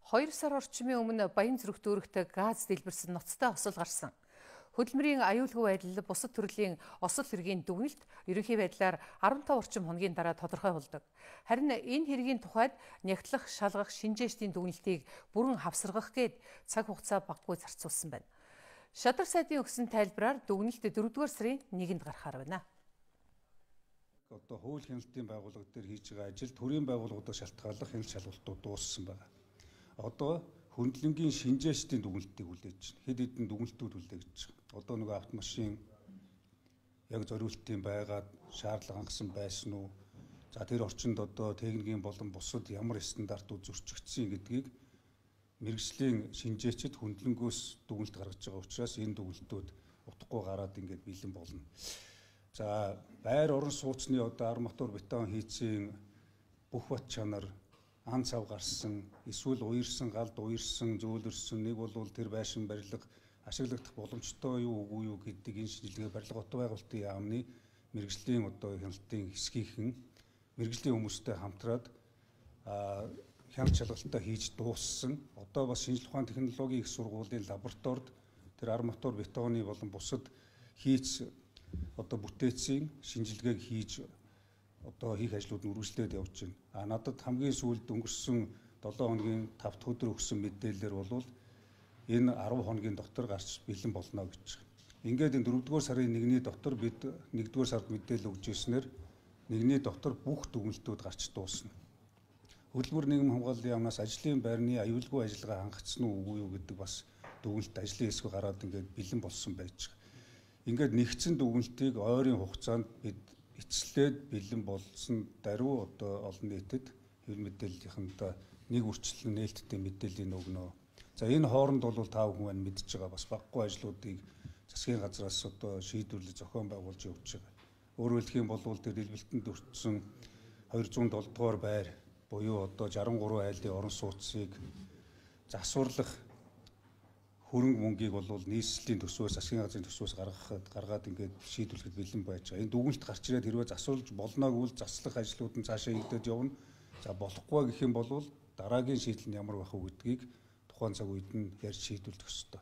2 сар орчмын өмнө Баян зүрх дүүрэгт газ дэлбэрсэн ноцтой осол гарсан. Хөдөлмөрийн аюулгүй байдал бусад төрлийн осол хэргийн дүгнэлт ерөнхий байдлаар 15 орчим хоногийн дараа тодорхой болдог. Харин энэ хэргийн тухайд нягтлах, шалгах, шинжээчдийн дүгнэлтийг бүрэн хавсаргах гээд цаг хугацаа баггүй зарцуулсан байна. Шадар сайдын өгсөн тайлбараар дүгнэлт 4-р сарын 1-нд гарахаар байна. Одоо хууль хяналтын байгууллага дээр хийж байгаа ажил төрийн байгууллагуудаар шалтгааллах хяналт шалгалтууд дууссан байна. Одоо хөндлөнгийн шинжээчдийн дүгнэлтийг хүлээж байна. Хэд хэдэн дүгнэлтүүд хүлээгдэж байгаа. Одоо нөгөө автомашин яг зориултын байгаад шаардлага хангасан байсан уу? За тэр орчинд одоо техникийн болон бусад ямар стандартууд зөрчигдсөн гэдгийг мэргэжлийн шинжээчид хөндлөнгөөс дүгнэлт гаргаж байгаа учраас энэ дүгнэлтүүд утгагүй гараад ингээд бэлэн болно. За байр орон сууцны одоо арматур бетон хийцийн бүх бат чанар ан цав гарсан, эсвэл уярсан, галд уярсан, зөөлрсөн, нэг бол тэр байшин барилга ашиглагдах боломжтой юу үгүй юу гэдэг энэ шинжилгээ барилга хот байгуулалтын яамны мэргэжлийн одоо хяналтын хэсгийнхэн мэргэжлийн хүмүүстэй хамтраад хяналт шалгалтаа хийж дууссан. Одоо бас шинжилгээ ухааны технологийн их сургуулийн лабораторид тэр арматур бетоны болон бусад хийц одоо бүтээцийн шинжилгээг хийж одоо хийх ажлууд нь үргэлжлээд явж байна. Надад хамгийн сүүлд өнгөрсөн 7 хоногийн 5 дахь өдөр өгсөн мэдээлэлээр бол энэ 10 хоногийн дотор гарч бэлэн болно гэж байна. Ингээд энэ 4-р сарын 1-ний дотор бид 1-р сард мэдээлэл өгж ирснээр 1-ний дотор бүх дүгнэлтүүд гарч дуусна. Хөдөлмөр нийгэм хамгааллын яамнаас ажлын байрны аюулгүй ажиллагаа хангагдсан уу үгүй юу гэдэг бас дүгнэлт ажлын хэсэг гараад ингээд бэлэн болсон байж байгаа. Ингээд нэгдсэн дүгнэлтийг ойрын хугацаанд бид эцэслээд бэлэн болсон даруй одоо олон нийтэд хэвлэл мэдээллийнхэнтэй нэг үрчлэн нээлттэй мэдээллийг өгнө. За энэ хооронд бол та бүхэн маань мэдж байгаа бас баггүй ажлуудыг засгийн газраас одоо шийдвэрлэж зохион байгуулж явж байгаа. Өөрөөр хэлэх юм бол тэр дэлбэлтэнд өртсөн 207 дугаар байр буюу одоо 63 айлын орон сууцыг засварлах хөрөнгө мөнгийг бол нийслэлийн төсвөөс засгийн газрын төсвөөс гаргаад ингээд шийдвэрлэхэд бэлэн байж байгаа. Энэ дүгнэлт гарч ирээд хэрвээ засварлаж болноог үл заслах ажлууд нь цаашаа хийгдэж явна. За болохгүй гэх юм бол дараагийн шийдэл нь ямар байх вэ гэдгийг тухайн цаг үед нь ярьж шийдвэрлэх ёстой.